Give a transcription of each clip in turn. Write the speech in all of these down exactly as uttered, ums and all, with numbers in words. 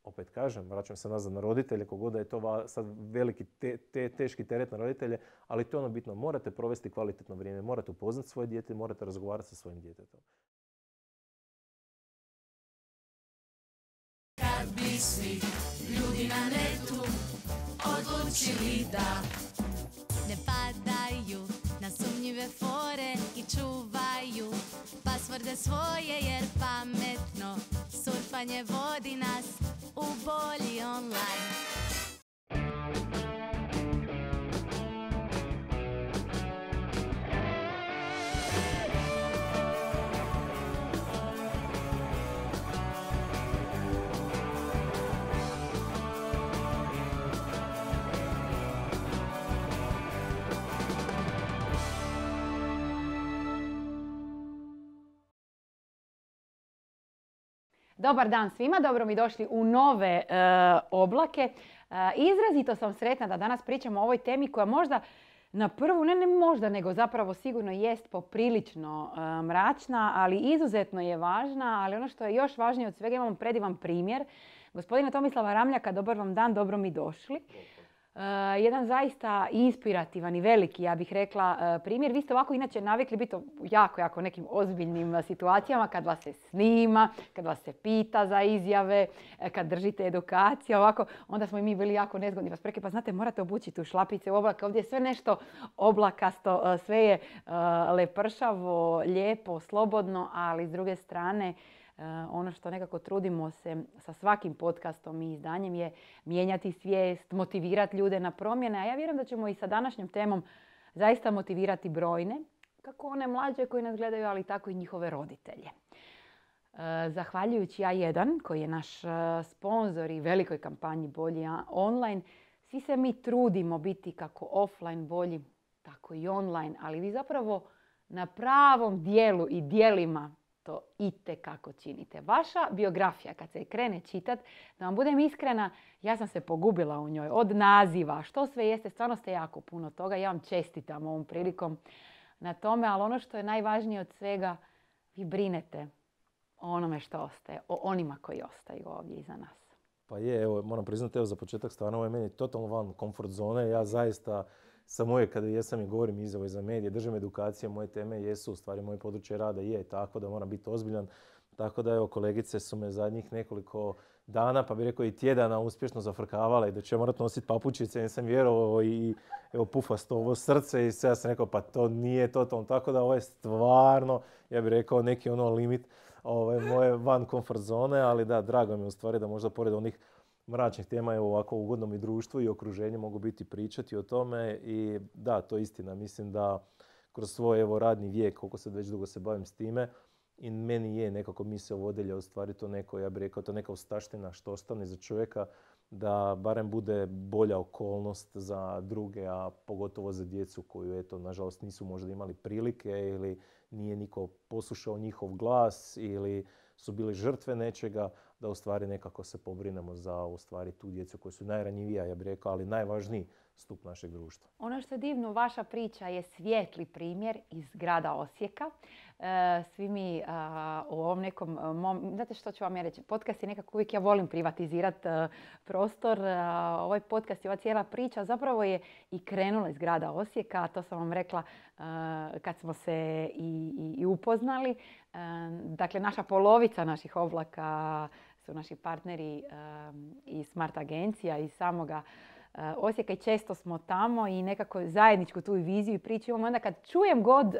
opet kažem, vraćam se nazad na roditelje, kogod da je to sad veliki te, te, teški teret na roditelje, ali to je ono bitno. Morate provesti kvalitetno vrijeme, morate upoznati svoje dijete, morate razgovarati sa svojim djetetom. Kad bi svi ljudi na netu odlučili da ne padaju na sumnjive fore i čuvaju pasvorde svoje, jer pametno surfanje vodi nas u bolji online. Dobar dan svima, dobro mi došli u nove e, oblake. E, izrazito sam sretna da danas pričamo o ovoj temi koja možda na prvu, ne, ne možda, nego zapravo sigurno jest poprilično e, mračna, ali izuzetno je važna. Ali ono što je još važnije od svega, imamo predivan primjer. Gospodina Tomislava Ramljaka, dobar vam dan, dobro mi došli. Uh, jedan zaista inspirativan i veliki, ja bih rekla, uh, primjer. Vi ste ovako inače navikli biti jako, jako nekim ozbiljnim uh, situacijama kad vas se snima, kad vas se pita za izjave, uh, kad držite edukacije, ovako, onda smo i mi bili jako nezgodni. Vas preke, pa znate, morate obući tu šlapice u oblake. Ovdje je sve nešto oblakasto, uh, sve je uh, lepršavo, lijepo, slobodno, ali s druge strane, Uh, ono što nekako trudimo se sa svakim podcastom i izdanjem je mijenjati svijest, motivirati ljude na promjene. A ja vjerujem da ćemo i sa današnjom temom zaista motivirati brojne, kako one mlađe koji nas gledaju, ali tako i njihove roditelje. Uh, zahvaljujući A jedan, koji je naš uh, sponzor i velikoj kampanji Bolji online, svi se mi trudimo biti kako offline bolji, tako i online, ali vi zapravo na pravom dijelu i dijelima to itekako činite. Vaša biografija, kad se krene čitat, da vam budem iskrena, ja sam se pogubila u njoj. Od naziva, što sve jeste, stvarno ste jako puno toga. Ja vam čestitam ovom prilikom na tome, ali ono što je najvažnije od svega, vi brinete o onome što ostaje, o onima koji ostaju ovdje iza nas. Pa je, evo, moram priznati, evo, za početak stvarno ovo je meni totalno van komfort zone. Ja zaista sam uvijek kada jesam i govorim izjavo za medije, držim edukacije, moje teme jesu, u stvari moje područje rada je tako da moram biti ozbiljan. Tako da evo, kolegice su me zadnjih nekoliko dana, pa bih rekao i tjedana, uspješno zafrkavale i da će morat nositi papučice. Ja sam vjerovao i evo, pufasto ovo srce i sve ja sam rekao pa to nije totalno. Tako da ovo je stvarno, ja bih rekao, neki ono limit ove, moje van komfort zone, ali da, drago mi je u stvari da možda pored onih mračnih tema, evo, ovako u ugodnom i društvu i okruženju mogu biti pričati o tome. I da, to je istina. Mislim da kroz svoj evo, radni vijek, koliko se već dugo se bavim s time, i meni je nekako misao vodilja u stvari to neko, ja bih rekao, to neka ostavština što ostane za čovjeka, da barem bude bolja okolnost za druge, a pogotovo za djecu koju, eto, nažalost nisu možda imali prilike ili nije niko poslušao njihov glas ili su bili žrtve nečega, da u stvari nekako se pobrinemo za u stvari tu djecu koji su najranjivija, ja bih rekao, ali najvažniji stup našeg društva. Ono što je divno, vaša priča je svijetli primjer iz grada Osijeka. E, svi mi a, u ovom nekom mom, znate što ću vam ja reći, podcast je nekako uvijek, ja volim privatizirati prostor. A, ovaj podcast i ova cijela priča zapravo je i krenula iz grada Osijeka, to sam vam rekla a, kad smo se i, i, i upoznali. A, dakle, naša polovica naših oblaka su naši partneri um, i Smart agencija i samoga uh, Osijeka i često smo tamo i nekako zajedničku tu viziju i priču imamo. Onda kad čujem god uh,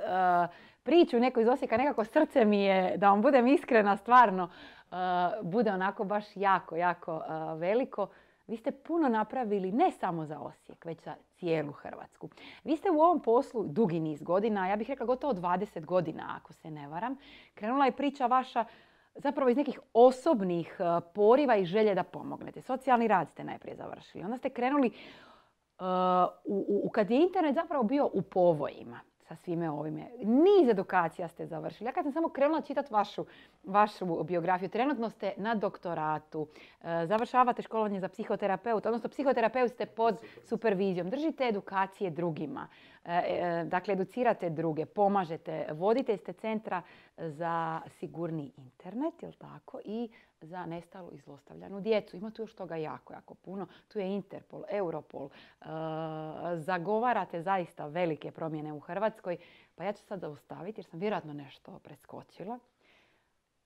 priču neko iz Osijeka, nekako srce mi je, da vam budem iskrena, stvarno uh, bude onako baš jako, jako uh, veliko. Vi ste puno napravili ne samo za Osijek, već za cijelu Hrvatsku. Vi ste u ovom poslu dugi niz godina, ja bih rekla gotovo dvadeset godina ako se ne varam. Krenula je priča vaša zapravo iz nekih osobnih poriva i želje da pomognete. Socijalni rad ste najprije završili. Onda ste krenuli uh, u, u, kad je internet zapravo bio u povojima sa svime ovime. Niz edukacija ste završili. Ja kad sam samo krenula čitati vašu, vašu biografiju, trenutno ste na doktoratu, uh, završavate školovanje za psihoterapeuta, odnosno psihoterapeut ste pod supervizijom, držite edukacije drugima, uh, uh, dakle educirate druge, pomažete, vodite ste centra za sigurni internet, jel tako, i za nestalu i zlostavljanu djecu. Ima tu još toga jako, jako puno. Tu je Interpol, Europol. E, zagovarate zaista velike promjene u Hrvatskoj. Pa ja ću sad zaustaviti jer sam vjerojatno nešto preskočila.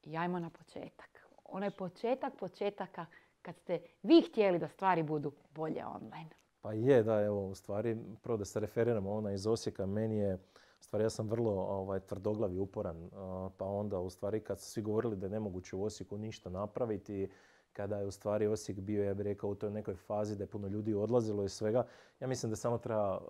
I ajmo na početak. Onaj početak početaka kad ste vi htjeli da stvari budu bolje online. Pa je, da, evo, u stvari, prvo da se referiramo ona iz Osijeka, meni je, u stvari ja sam vrlo ovaj, tvrdoglav i uporan, pa onda u stvari kad su svi govorili da je nemoguće u Osijeku ništa napraviti, kada je u stvari Osijek bio, ja bih rekao, u toj nekoj fazi da je puno ljudi odlazilo i svega, ja mislim da samo treba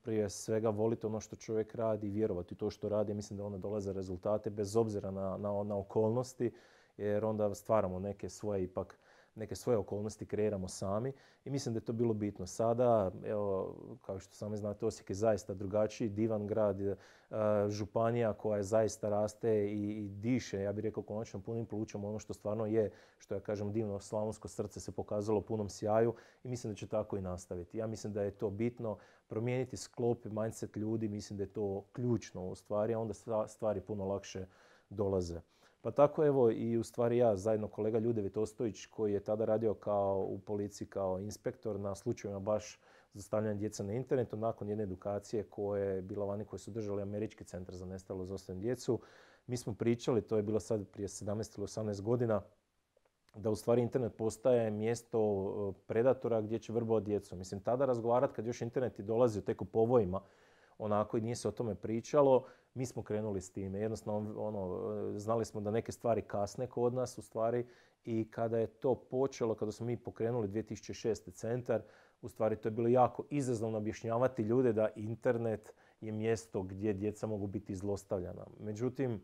prije svega voliti ono što čovjek radi i vjerovati u to što radi. Mislim da onda dolaze rezultate bez obzira na, na, na okolnosti, jer onda stvaramo neke svoje ipak neke svoje okolnosti kreiramo sami i mislim da je to bilo bitno. Sada, evo, kao što sami znate, Osijek je zaista drugačiji, divan grad, županija koja je zaista raste i, i diše, ja bih rekao, konačno punim plućom ono što stvarno je, što ja kažem, divno slavonsko srce se pokazalo u punom sjaju i mislim da će tako i nastaviti. Ja mislim da je to bitno, promijeniti sklop i mindset ljudi, mislim da je to ključno u stvari, a onda stvari puno lakše dolaze. Pa tako evo i u stvari ja zajedno kolega Ljudevit Ostojić koji je tada radio kao u policiji kao inspektor na slučajevima baš zlostavljanja djece na internetu nakon jedne edukacije koje je bila vani koje su držali Američki centar za nestalu i zlostavljanu djecu. Mi smo pričali, to je bilo sad prije sedamnaest ili osamnaest godina, da u stvari internet postaje mjesto predatora gdje će vrbovati djecu. Mislim, tada razgovarati kad još internet i dolazi tek u povojima, onako i nije se o tome pričalo, mi smo krenuli s time. Jednostavno, ono, znali smo da neke stvari kasne kod nas u stvari i kada je to počelo, kada smo mi pokrenuli dvije tisuće šeste centar, u stvari to je bilo jako izazovno objašnjavati ljude da internet je mjesto gdje djeca mogu biti zlostavljana. Međutim,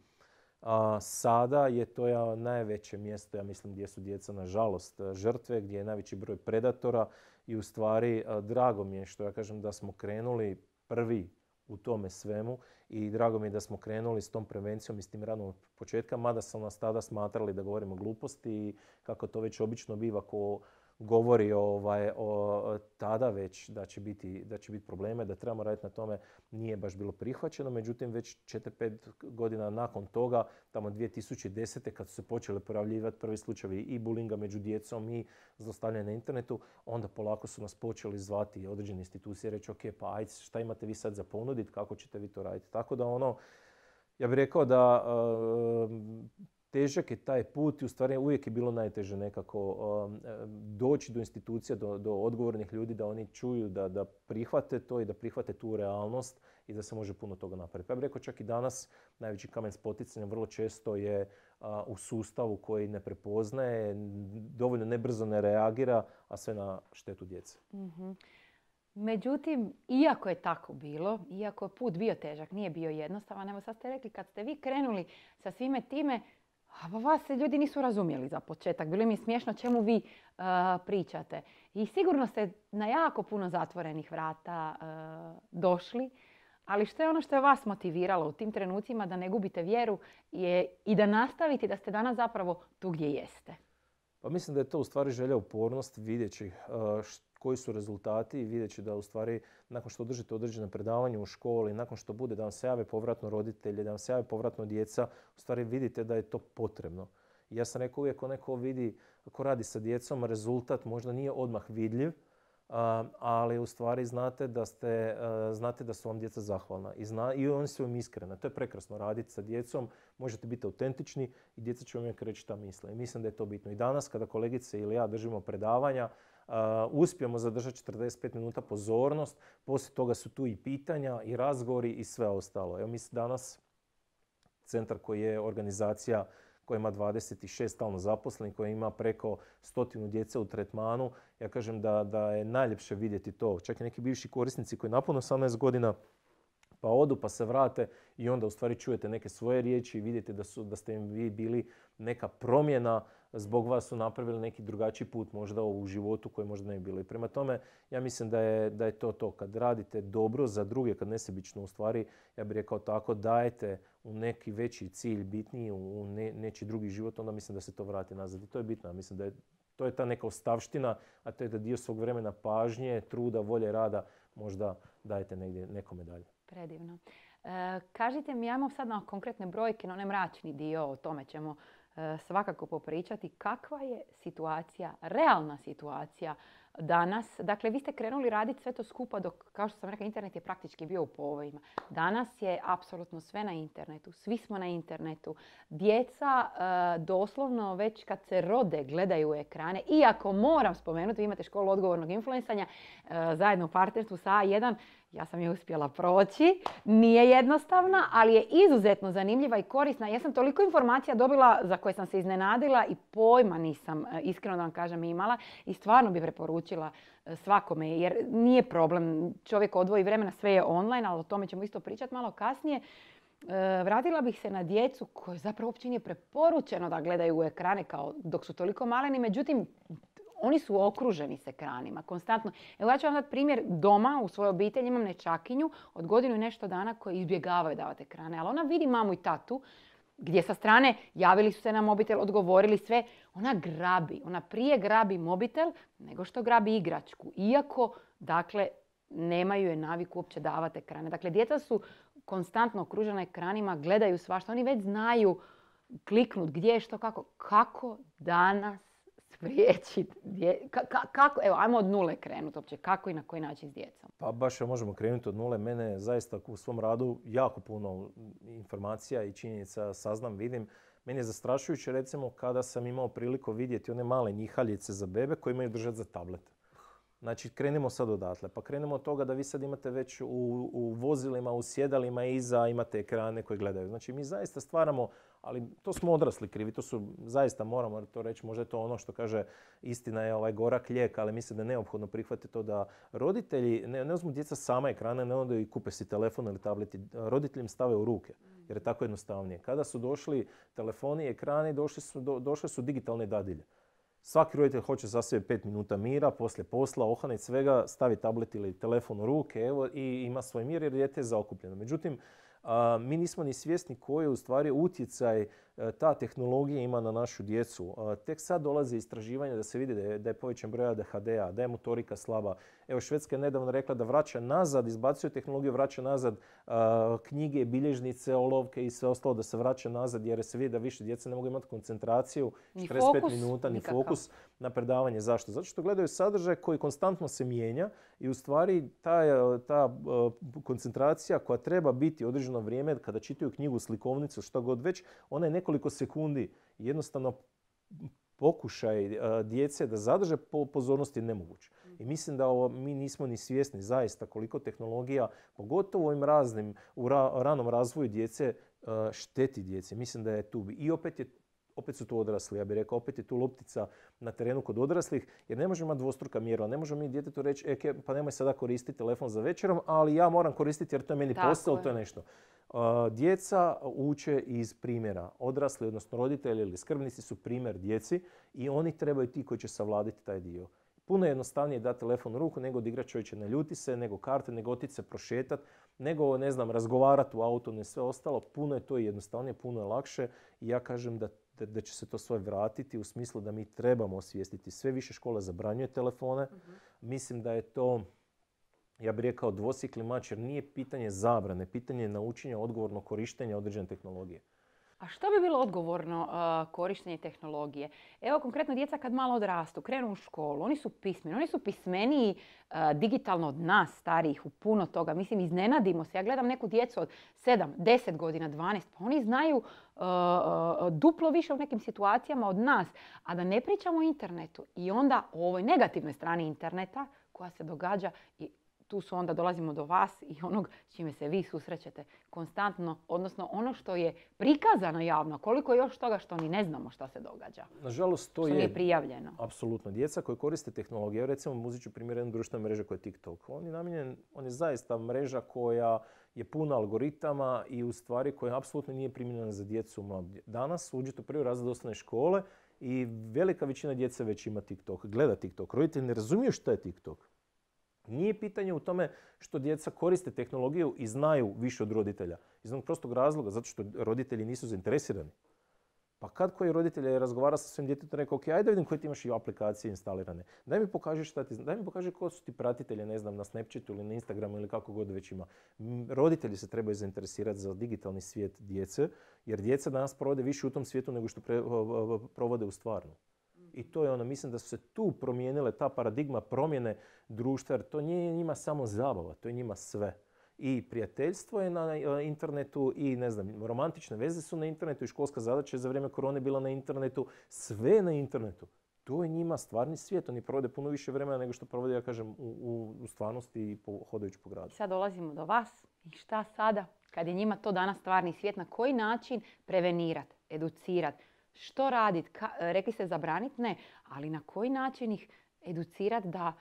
a, sada je to ja najveće mjesto, ja mislim, gdje su djeca nažalost žrtve, gdje je najveći broj predatora i u stvari a, drago mi je što ja kažem da smo krenuli prvi u tome svemu i drago mi je da smo krenuli s tom prevencijom i s tim radom od početka, mada sam nas tada smatrali da govorimo gluposti i kako to već obično biva ko govori ovaj, o tada već da će biti, da će biti probleme, da trebamo raditi na tome, nije baš bilo prihvaćeno. Međutim, već četiri pet godina nakon toga, tamo dvije tisuće desete kad su se počeli pojavljivati prvi slučajevi i bulinga među djecom i zlostavljanja na internetu, onda polako su nas počeli zvati određene institucije i reći ok, pa ajde, šta imate vi sad za ponuditi, kako ćete vi to raditi. Tako da ono, ja bih rekao da uh, težak je taj put i u stvari uvijek je bilo najteže nekako um, doći do institucija, do, do odgovornih ljudi, da oni čuju, da, da prihvate to i da prihvate tu realnost i da se može puno toga napraviti. Pa ja bih rekao čak i danas najveći kamen spoticanja vrlo često je uh, u sustavu koji ne prepoznaje, dovoljno nebrzo ne reagira, a sve na štetu djece. Mm-hmm. Međutim, iako je tako bilo, iako je put bio težak, nije bio jednostavan, evo sad ste rekli kad ste vi krenuli sa svime time, a vas se ljudi nisu razumjeli za početak. Bilo mi je smiješno čemu vi uh, pričate. I sigurno ste na jako puno zatvorenih vrata uh, došli. Ali što je ono što je vas motiviralo u tim trenucima da ne gubite vjeru je i da nastavite da ste danas zapravo tu gdje jeste? Pa mislim da je to u stvari želja, upornost, vidjeći uh, koji su rezultati i vidjeći da u stvari nakon što držite određene predavanje u školi, nakon što bude da vam se jave povratno roditelji, da vam se jave povratno djeca, u stvari vidite da je to potrebno. I ja sam rekao uvijek, ako neko vidi, ako radi sa djecom, rezultat možda nije odmah vidljiv, ali u stvari znate da, ste, znate da su vam djeca zahvalna i, zna, i oni su vam iskreni. To je prekrasno raditi sa djecom, možete biti autentični i djeca će vam uvijek reći šta misle. I mislim da je to bitno. I danas kada kolegice ili ja držimo predavanja, Uh, uspijemo zadržati četrdeset pet minuta pozornost, poslije toga su tu i pitanja i razgovori i sve ostalo. Evo mislim danas centar koji je organizacija koja ima dvadeset šest stalno zaposlenih, koja ima preko stotinu djece u tretmanu, ja kažem da, da je najljepše vidjeti to. Čak i neki bivši korisnici koji napune osamnaest godina pa odu pa se vrate i onda u stvari čujete neke svoje riječi i vidite da, su, da ste im vi bili neka promjena, zbog vas su napravili neki drugačiji put možda u životu koji možda ne bi bilo. I prema tome ja mislim da je, da je to to. Kad radite dobro za druge, kad nesebično u stvari, ja bih rekao tako, dajete u neki veći cilj, bitniji, u ne, nečiji drugi život, onda mislim da se to vrati nazad. I to je bitno. Ja mislim da je, to je ta neka ostavština, a to je da dio svog vremena pažnje, truda, volje, rada možda dajete negdje nekome dalje. Predivno. E, kažite mi, ajmo sad na konkretne brojke, na onaj mračni dio, o tome ćemo svakako popričati kakva je situacija, realna situacija danas. Dakle, vi ste krenuli raditi sve to skupa dok, kao što sam rekla, internet je praktički bio u povojima. Danas je apsolutno sve na internetu. Svi smo na internetu. Djeca doslovno već kad se rode gledaju ekrane. Iako moram spomenuti, vi imate školu odgovornog influencanja zajedno u partnerstvu sa A jedan. Ja sam je uspjela proći. Nije jednostavna, ali je izuzetno zanimljiva i korisna. Ja sam toliko informacija dobila za koje sam se iznenadila i pojma nisam, iskreno da vam kažem, imala. I stvarno bi preporučila svakome, jer nije problem. Čovjek odvoji vremena, sve je online, ali o tome ćemo isto pričati malo kasnije. Vratila bih se na djecu koje zapravo uopće nije preporučeno da gledaju u ekrane kao dok su toliko maleni. Međutim, oni su okruženi s ekranima, konstantno. Evo ja ću vam dati primjer doma, u svojoj obitelji imam nečakinju od godinu i nešto dana koji izbjegavaju davati ekrane. Ali ona vidi mamu i tatu gdje sa strane javili su se na mobitel, odgovorili sve. Ona grabi, ona prije grabi mobitel nego što grabi igračku. Iako, dakle, nemaju je naviku uopće davati ekrane. Dakle, djeca su konstantno okružena ekranima, gledaju svašta. Oni već znaju kliknut gdje, što, kako. Kako danas spriječiti? Ka, ka, kako? Evo, ajmo od nule krenuti uopće. Kako i na koji način s djecom? Pa baš možemo krenuti od nule. Mene zaista u svom radu jako puno informacija i činjenica saznam, vidim. Meni je zastrašujuće recimo kada sam imao priliku vidjeti one male njihaljice za bebe koje imaju držati za tablet. Znači, krenemo sad odatle. Pa krenemo od toga da vi sad imate već u, u vozilima, u sjedalima iza imate ekrane koje gledaju. Znači, mi zaista stvaramo, ali to smo odrasli krivi, to su, zaista moramo to reći, možda je to ono što kaže istina je ovaj gorak lijek, ali mislim da je neophodno prihvatiti to da roditelji, ne, ne uzmu djeca sama ekrane, ne onda i kupe si telefon ili tableti, roditelji im stave u ruke, jer je tako jednostavnije. Kada su došli telefoni i ekrani, došli su, do, došle su digitalne dadilje. Svaki roditelj hoće za sebe pet minuta mira, poslije posla, ohanit svega, stavi tablet ili telefon u ruke evo, i ima svoj mir jer dijete je zaokupljeno. Međutim, a, mi nismo ni svjesni koji je u stvari utjecaj a, ta tehnologija ima na našu djecu. A, tek sad dolaze istraživanja da se vidi da je, da je povećan broj A D H D-a, da je motorika slaba. Evo, Švedska je nedavno rekla da vraća nazad, izbacuje tehnologiju, vraća nazad a, knjige, bilježnice, olovke i sve ostalo da se vraća nazad jer se vidi da više djeca ne mogu imati koncentraciju, ni četrdeset pet fokus, minuta, ni nikakav. fokus na predavanje. Zašto? Zato što gledaju sadržaj koji konstantno se mijenja i u stvari ta, ta uh, koncentracija koja treba biti određeno vrijeme kada čitaju knjigu, slikovnicu, što god već, ona je nekoliko sekundi. Jednostavno pokušaj uh, djece da zadrže po pozornosti je nemoguće. I mislim da ovo, mi nismo ni svjesni zaista koliko tehnologija, pogotovo u ovim raznim, u ra, ranom razvoju djece, uh, šteti djece. Mislim da je tu. I opet je Opet su tu odrasli, ja bih rekao, opet je tu loptica na terenu kod odraslih, jer ne možemo imati dvostruka mjerila. Ne možemo mi djetetu reći, e, pa nemoj sada koristiti telefon za večerom, ali ja moram koristiti jer to je meni posao, to je nešto. Uh, djeca uče iz primjera. Odrasli, odnosno roditelji ili skrbnici su primjer djeci i oni trebaju ti koji će savladiti taj dio. Puno je jednostavnije dati telefon u ruku nego da igrač čovječe ne ljuti se, nego karte, nego otići se prošetati, nego, ne znam, razgovarati u auto, ne sve ostalo. Puno je to jednostavnije, puno je lakše i ja kažem da Da, da će se to sve vratiti u smislu da mi trebamo osvijestiti. Sve više škola zabranjuje telefone. Uh-huh. Mislim da je to, ja bih rekao, dvosjekli mač jer nije pitanje zabrane, pitanje naučenja odgovornog korištenja određene tehnologije. A što bi bilo odgovorno uh, korištenje tehnologije? Evo konkretno djeca kad malo odrastu, krenu u školu, oni su pismeni, oni su pismeniji uh, digitalno od nas starijih u puno toga. Mislim, iznenadimo se. Ja gledam neku djecu od sedam, deset godina, dvanaest, pa oni znaju uh, uh, duplo više u nekim situacijama od nas. A da ne pričamo o internetu i onda o ovoj negativnoj strani interneta koja se događa i tu su onda dolazimo do vas i onog s čime se vi susrećete konstantno, odnosno ono što je prikazano javno, koliko je još toga što ni ne znamo šta se događa. Nažalost, to što je nije prijavljeno. Apsolutno. Djeca koji koriste tehnologiju, recimo uzet ću primjer jednu društvenu mrežu koja je TikTok. On je namijenjen, on je zaista mreža koja je puna algoritama i u stvari koja apsolutno nije primjenjena za djecu. Danas uđete u prvi razred osnovne škole i velika većina djece već ima TikTok, gleda TikTok. Roditelji ne razumiju šta je TikTok. Nije pitanje u tome što djeca koriste tehnologiju i znaju više od roditelja. Iz onog prostog razloga, zato što roditelji nisu zainteresirani. Pa kad koji roditelj je razgovara sa svojim djetetom, rekao, ok, ajde vidim koje ti imaš i aplikacije instalirane. Daj mi pokaži šta ti, daj mi pokaži ko su ti pratitelji, ne znam, na Snapchatu ili na Instagramu ili kako god već ima. Roditelji se trebaju zainteresirati za digitalni svijet djece, jer djeca danas provode više u tom svijetu nego što pre, provode u stvarnom. I to je ono, mislim da su se tu promijenile, ta paradigma promjene društva, jer to nije njima samo zabava, to je njima sve. I prijateljstvo je na internetu i, ne znam, romantične veze su na internetu i školska zadaća je za vrijeme korone bila na internetu. Sve je na internetu. To je njima stvarni svijet. Oni provode puno više vremena nego što provode, ja kažem, u, u, u stvarnosti i po, hodajući po gradu. Sad dolazimo do vas. I šta sada? Kad je njima to danas stvarni svijet, na koji način prevenirati, educirati? Što raditi? Rekli ste zabraniti? Ne. Ali na koji način ih educirati da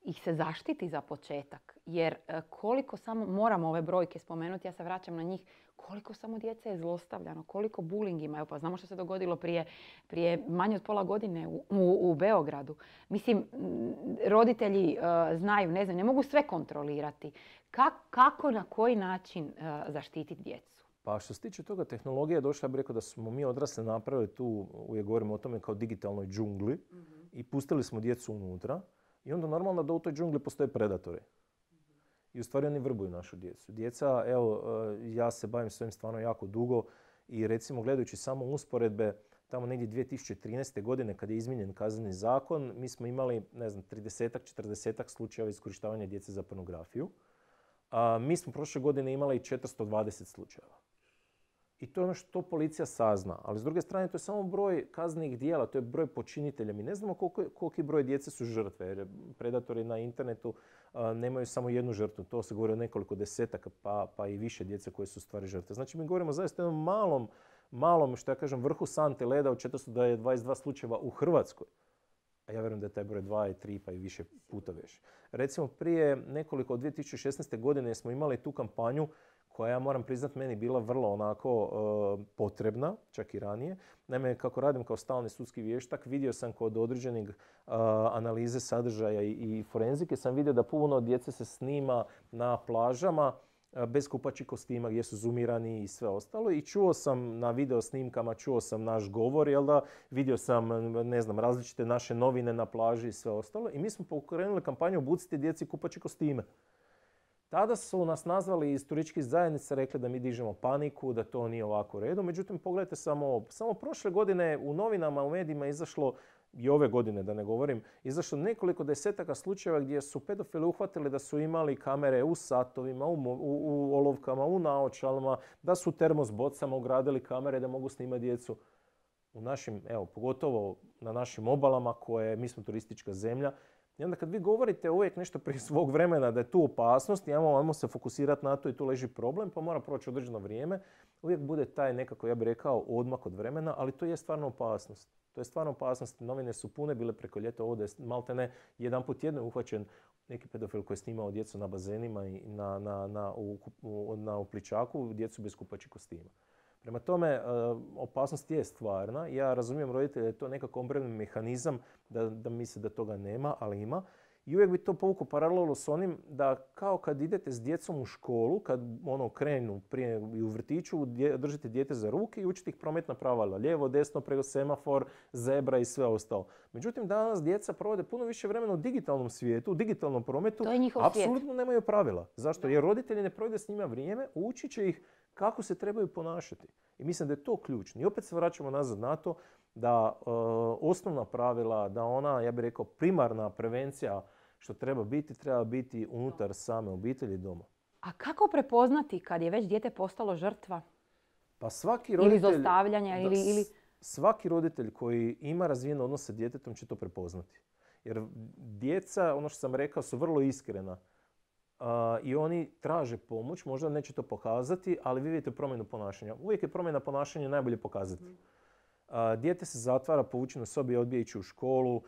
ih se zaštiti za početak? Jer koliko samo, moramo ove brojke spomenuti, ja se vraćam na njih, koliko samo djece je zlostavljano, koliko bullying ima. Evo, pa znamo što se dogodilo prije, prije manje od pola godine u, u, u Beogradu. Mislim, roditelji uh, znaju, ne znam, ne mogu sve kontrolirati. Ka, kako, na koji način uh, zaštititi djecu? Pa što se tiče toga, tehnologija je došla, ja bih rekao da smo mi odrasli napravili tu, uvijek govorimo o tome kao digitalnoj džungli, mm-hmm. i pustili smo djecu unutra. I onda normalno da u toj džungli postoje predatori. I u stvari oni vrbuju našu djecu. Djeca, evo, ja se bavim s ovim stvarno jako dugo i recimo gledajući samo usporedbe, tamo negdje dvije tisuće trinaeste. godine kad je izmijenjen kazneni zakon, mi smo imali, ne znam, tridesetak, četrdesetak slučajeva iskorištavanja djece za pornografiju. A mi smo prošle godine imali četiristo dvadeset slučajeva. I to je ono što policija sazna. Ali s druge strane, to je samo broj kaznenih dijela, to je broj počinitelja. Mi ne znamo koliko, koliki broj djece su žrtve, jer predatori na internetu a, nemaju samo jednu žrtvu. To se govori o nekoliko desetaka, pa, pa i više djece koje su u stvari žrtve. Znači, mi govorimo zaista o jednom malom, malom, što ja kažem, vrhu sante leda od četiristo dvadeset dva slučajeva u Hrvatskoj. A ja vjerujem da je taj broj dva i tri pa i više puta više. Recimo, prije nekoliko, od dvije tisuće šesnaeste. godine smo imali tu kampanju koja, ja moram priznat, meni bila vrlo onako uh, potrebna, čak i ranije. Naime, kako radim kao stalni sudski vještak, vidio sam kod određenih uh, analize sadržaja i, i forenzike, sam vidio da puno djece se snima na plažama uh, bez kupaćih kostima gdje su zoomirani i sve ostalo. I čuo sam na video snimkama, čuo sam naš govor, jel da, vidio sam, ne znam, različite naše novine na plaži i sve ostalo. I mi smo pokrenuli kampanju Obucite djeci kupaće kostime. Tada su nas nazvali iz turističkih zajednica, rekli da mi dižemo paniku, da to nije ovako u redu. Međutim, pogledajte samo, samo prošle godine u novinama, u medijima izašlo, i ove godine da ne govorim, izašlo nekoliko desetaka slučajeva gdje su pedofili uhvatili da su imali kamere u satovima, u, u, u olovkama, u naočalama, da su u termos bocama ugradili kamere da mogu snimati djecu. U našim, evo, pogotovo na našim obalama koje, mi smo turistička zemlja. I onda kad vi govorite uvijek nešto prije svog vremena da je tu opasnost, i ajmo, ajmo se fokusirati na to i tu leži problem, pa mora proći određeno vrijeme, uvijek bude taj nekako, ja bih rekao, odmak od vremena, ali to je stvarno opasnost. To je stvarno opasnost. Novine su pune bile preko ljeta ovdje, malte ne, jedan put jedno je uhvaćen neki pedofil koji je snimao djecu na bazenima i na, na, na, u, u, na upličaku, djecu bez kupaćih kostima. Prema tome, opasnost je stvarna. Ja razumijem roditelje da je to nekako obrambeni mehanizam, da, da misle da toga nema, ali ima. I uvijek bi to povukao paralelu s onim da kao kad idete s djecom u školu, kad ono krenu prije i u vrtiću, dje, držite dijete za ruke i učite ih prometna pravila. Lijevo, desno, preko semafor, zebra i sve ostalo. Međutim, danas djeca provode puno više vremena u digitalnom svijetu, u digitalnom prometu. To je njihov svijet. Apsolutno nemaju pravila. Zašto? Jer roditelji ne provode s njima vrijeme, učit će ih kako se trebaju ponašati. I mislim da je to ključno. I opet se vraćamo nazad na to da uh, osnovna pravila, da ona, ja bih rekao, primarna prevencija što treba biti, treba biti unutar same obitelji doma. A kako prepoznati kad je već dijete postalo žrtva? Pa svaki roditelj, ili zlostavljanja, ili, ili... Svaki roditelj koji ima razvijen odnos sa djetetom će to prepoznati. Jer djeca, ono što sam rekao, su vrlo iskrena. Uh, I oni traže pomoć, možda neće to pokazati, ali vi vidite promjenu ponašanja. Uvijek je promjena ponašanja najbolje pokazati. Mm. Uh, dijete se zatvara, povučeno sobi, odbija ići u školu, uh,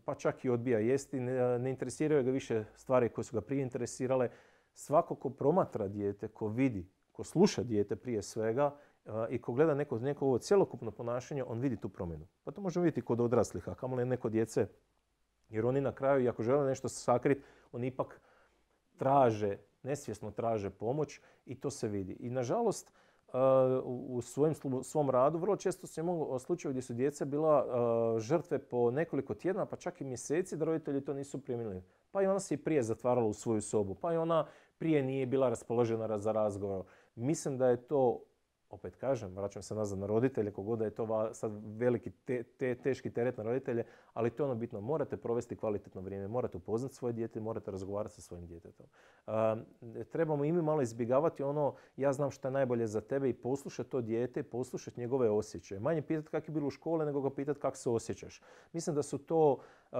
pa čak i odbija jesti, ne, ne interesiraju ga više stvari koje su ga prije interesirale. Svako ko promatra dijete, ko vidi, ko sluša dijete prije svega uh, i ko gleda neko, neko ovo cjelokupno ponašanje, on vidi tu promjenu. Pa to možemo vidjeti kod odraslih, a kamoli neko djece. Jer oni na kraju, i ako žele nešto sakriti, oni ipak traže, nesvjesno traže pomoć i to se vidi. I nažalost, u svojem, svom radu vrlo često sam imao slučajeve gdje su djeca bila žrtve po nekoliko tjedna, pa čak i mjeseci da roditelji to nisu primili. Pa i ona se i prije zatvarala u svoju sobu, pa i ona prije nije bila raspoložena za razgovor. Mislim da je to, opet kažem, vraćam se nazad na roditelje, kogod da je to sad veliki te, te, teški teret na roditelje, ali to je ono bitno. Morate provesti kvalitetno vrijeme, morate upoznati svoje dijete, morate razgovarati sa svojim djetetom. Uh, trebamo i mi malo izbjegavati ono, ja znam što je najbolje za tebe i poslušati to dijete, poslušati njegove osjećaje. Manje pitati kako je bilo u škole, nego ga pitati kako se osjećaš. Mislim da su to, uh,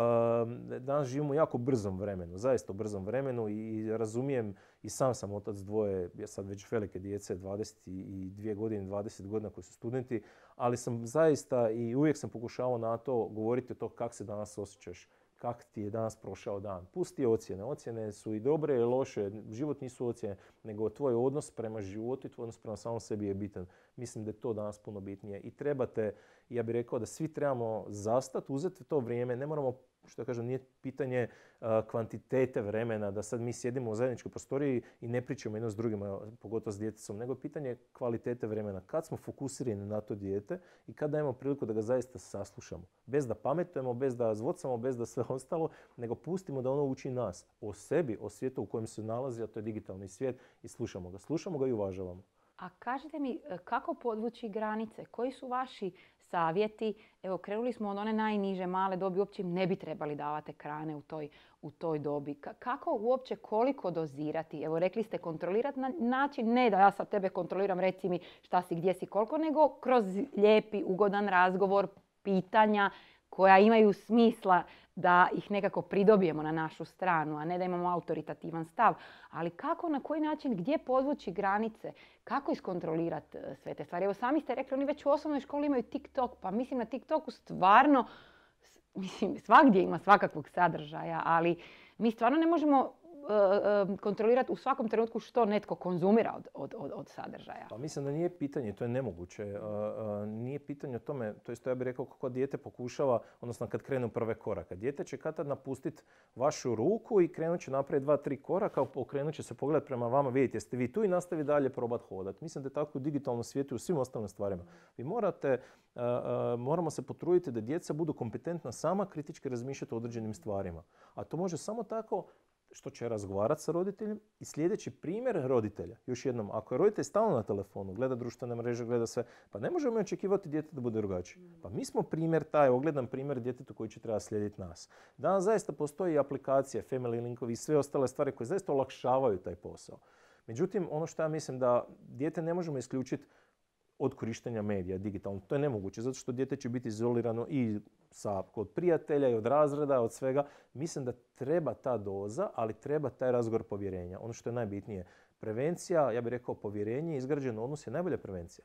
danas živimo u jako brzom vremenu, zaista u brzom vremenu i razumijem, i sam sam otac dvoje, ja sad već velike djece, dvadeset dvije godine, dvadeset godina koji su studenti, ali sam zaista i uvijek sam pokušavao na to govoriti o to kako se danas osjećaš, kako ti je danas prošao dan. Pusti ocjene. Ocjene su i dobre i loše. Život nisu ocjene, nego tvoj odnos prema životu i tvoj odnos prema samom sebi je bitan. Mislim da je to danas puno bitnije. I trebate, ja bih rekao da svi trebamo zastati, uzeti to vrijeme. Ne moramo, što kažem, nije pitanje uh, kvantitete vremena, da sad mi sjedimo u zajedničkoj prostoriji i ne pričamo jedno s drugima, pogotovo s djetecom, nego pitanje kvalitete vremena. Kad smo fokusirani na to dijete i kad dajemo priliku da ga zaista saslušamo. Bez da pametujemo, bez da zvocamo, bez da sve ostalo, nego pustimo da ono uči nas o sebi, o svijetu u kojem se nalazi, a to je digitalni svijet, i slušamo ga. Slušamo ga i uvažavamo. A kažite mi, kako podvući granice? Koji su vaši savjeti? Evo, krenuli smo od one najniže male dobi, uopće im ne bi trebali davati ekrane u toj, u toj dobi. Kako uopće, koliko dozirati? Evo, rekli ste kontrolirati na način, ne da ja sad tebe kontroliram, reci mi šta si, gdje si, koliko, nego kroz lijepi, ugodan razgovor, pitanja koja imaju smisla da ih nekako pridobijemo na našu stranu, a ne da imamo autoritativan stav. Ali kako, na koji način, gdje podvući granice, kako iskontrolirati sve te stvari? Evo, sami ste rekli, oni već u osnovnoj školi imaju TikTok, pa mislim na TikToku stvarno, mislim, svagdje ima svakakvog sadržaja, ali mi stvarno ne možemo kontrolirati u svakom trenutku što netko konzumira od, od, od, od sadržaja. Pa mislim da nije pitanje, to je nemoguće. Uh, uh, nije pitanje o tome, to isto ja bih rekao kako dijete pokušava, odnosno kad krenu prve koraka. Dijete će kad tad napustiti vašu ruku i krenut će napraviti dva, tri koraka, okrenut će se pogledati prema vama, vidite jeste vi tu i nastavi dalje probati hodati. Mislim da je tako u digitalnom svijetu i u svim ostalim stvarima. Vi morate, uh, uh, moramo se potruditi da djeca budu kompetentna sama kritički razmišljati o određenim stvarima. A to može samo tako što će razgovarati sa roditeljem i sljedeći primjer roditelja. Još jednom, ako je roditelj stalno na telefonu, gleda društvene mreže, gleda sve, pa ne možemo očekivati dijete da bude drugačiji. Pa mi smo primjer, taj ogledan primjer djetetu koji će treba slijediti nas. Danas zaista postoji aplikacije, family linkovi i sve ostale stvari koje zaista olakšavaju taj posao. Međutim, ono što ja mislim da dijete ne možemo isključiti od korištenja medija digitalno. To je nemoguće, zato što dijete će biti izolirano i sa, od prijatelja i od razreda, od svega. Mislim da treba ta doza, ali treba taj razgovor povjerenja. Ono što je najbitnije. Prevencija, ja bih rekao povjerenje, izgrađen odnos je najbolja prevencija.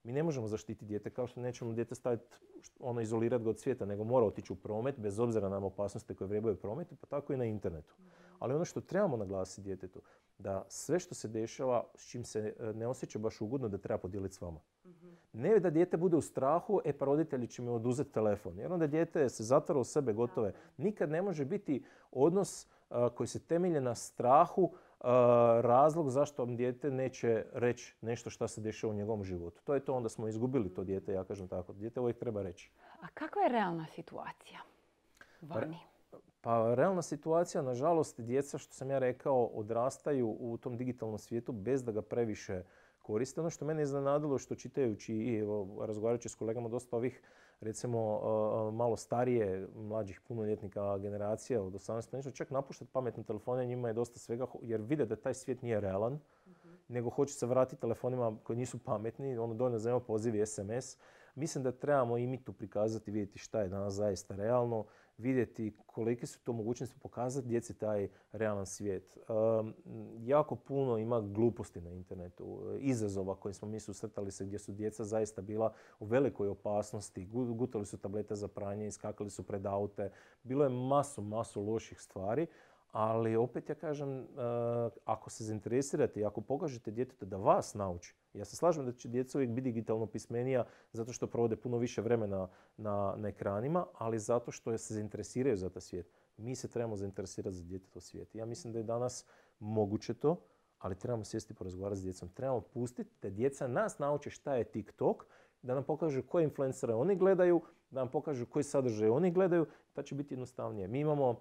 Mi ne možemo zaštititi dijete kao što nećemo dijete staviti, ono, izolirati ga od svijeta, nego mora otići u promet, bez obzira na opasnosti koje vrebaju u prometu, pa tako i na internetu. Ali ono što trebamo naglasiti djetetu, da sve što se dešava, s čim se ne osjeća baš ugodno, da treba podijeliti s vama. Mm-hmm. Ne da dijete bude u strahu, e pa roditelji će mi oduzeti telefon. Jer onda dijete se zatvara u sebe, gotove. Nikad ne može biti odnos uh, koji se temelje na strahu, uh, razlog zašto vam dijete neće reći nešto što se dešava u njegovom životu. To je to, onda smo izgubili to dijete, ja kažem tako. Dijete uvijek treba reći. A kakva je realna situacija vani? Pa realna situacija, nažalost, djeca, što sam ja rekao, odrastaju u tom digitalnom svijetu bez da ga previše koriste. Ono što mene iznenadilo, što čitajući i razgovarajući s kolegama dosta ovih, recimo, malo starije, mlađih punoljetnika generacija od osamnaest nešto, čak napuštati pametne telefone, njima je dosta svega, jer vide da taj svijet nije realan, mm-hmm. nego hoće se vratiti telefonima koji nisu pametni, ono dovoljno za poziv i es em es. Mislim da trebamo i mi tu prikazati, vidjeti šta je danas zaista realno, vidjeti kolike su to mogućnosti, pokazati djeci taj realan svijet. Um, jako puno ima gluposti na internetu, izazova koje smo mi susretali se gdje su djeca zaista bila u velikoj opasnosti, gutali su tablete za pranje, iskakali su pred aute, bilo je masu, masu loših stvari. Ali opet ja kažem, uh, ako se zainteresirate i ako pokažete djetetu da vas nauči, ja se slažem da će djeca uvijek biti digitalno pismenija zato što provode puno više vremena na, na ekranima, ali zato što se zainteresiraju za taj svijet. Mi se trebamo zainteresirati za djetetov svijet. Ja mislim da je danas moguće to, ali trebamo sjesti i porazgovarati s djecom. Trebamo pustiti da djeca nas nauče šta je TikTok, da nam pokažu koje influencere oni gledaju, da nam pokažu koji sadržaj oni gledaju, pa će biti jednostavnije. Mi imamo uh,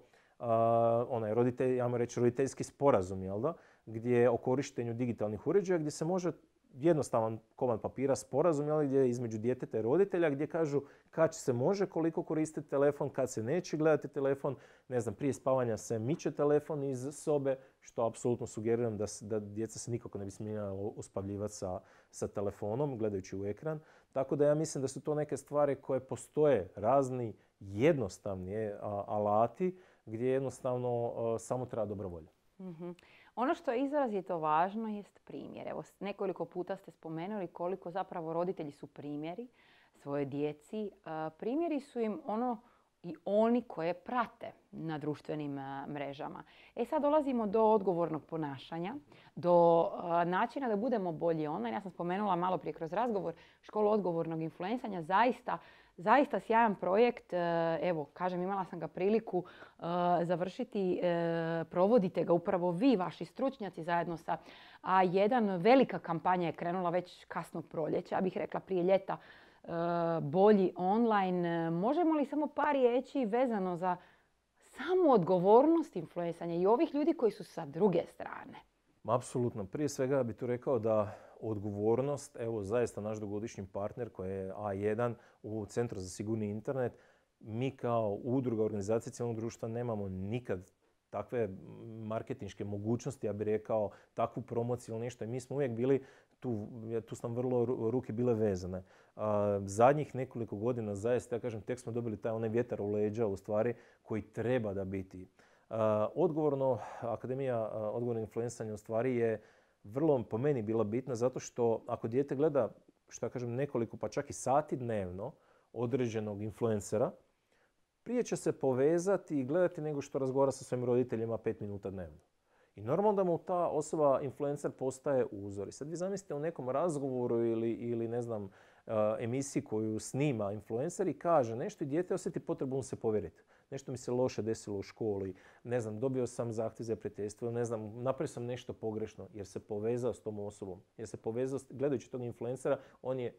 onaj roditelj, ja reći roditeljski sporazum, jel da? Gdje o korištenju digitalnih uređaja, gdje se može jednostavan komad papira, sporazum, jel, gdje je između djeteta i roditelja, gdje kažu kad se može, koliko koristiti telefon, kad se neće gledati telefon. Ne znam, prije spavanja se miče telefon iz sobe, što apsolutno sugeriram da, da djeca se nikako ne bi smjela uspavljivati sa, sa telefonom, gledajući u ekran. Tako da ja mislim da su to neke stvari koje postoje, razni jednostavni a, alati, gdje jednostavno a, samo treba dobra volja. Mm-hmm. Ono što je izrazito važno jest primjer. Evo, nekoliko puta ste spomenuli koliko zapravo roditelji su primjeri svoje djeci. Primjeri su im ono i oni koje prate na društvenim mrežama. E sad dolazimo do odgovornog ponašanja, do načina da budemo bolji online. Ja sam spomenula malo prije kroz razgovor školu odgovornog influencanja. Zaista Zaista sjajan projekt, evo, kažem, imala sam ga priliku uh, završiti, uh, provodite ga upravo vi, vaši stručnjaci zajedno sa A jedan. Velika kampanja je krenula već kasnog proljeća, ja bih rekla prije ljeta, uh, bolji online. Možemo li samo par riječi vezano za samu odgovornost influencanja i ovih ljudi koji su sa druge strane? Apsolutno. Prije svega bih tu rekao da odgovornost, evo zaista naš dugogodišnji partner koji je A jedan u Centru za sigurni internet, mi kao udruga organizacije civilnog društva nemamo nikad takve marketinške mogućnosti, ja bih rekao, takvu promociju ili nešto. I mi smo uvijek bili, tu, tu su nam vrlo ruke bile vezane. A, zadnjih nekoliko godina zaista, ja kažem, tek smo dobili taj onaj vjetar u leđa u stvari koji treba da biti. A, odgovorno, Akademija odgovornog influencanja u stvari je vrlo po meni bila bitna zato što ako dijete gleda, što ja kažem, nekoliko pa čak i sati dnevno određenog influencera, prije će se povezati i gledati nego što razgovara sa svojim roditeljima pet minuta dnevno. I normalno da mu ta osoba, influencer, postaje uzor. I sad vi zamislite u nekom razgovoru ili, ili ne znam, emisiji koju snima influencer i kaže nešto i dijete osjeti potrebu mu se povjeriti. Nešto mi se loše desilo u školi, ne znam, dobio sam zahtjev za prijateljstvo, ne znam, napravio sam nešto pogrešno jer se povezao s tom osobom. Jer se povezao, gledajući tog influencera, on je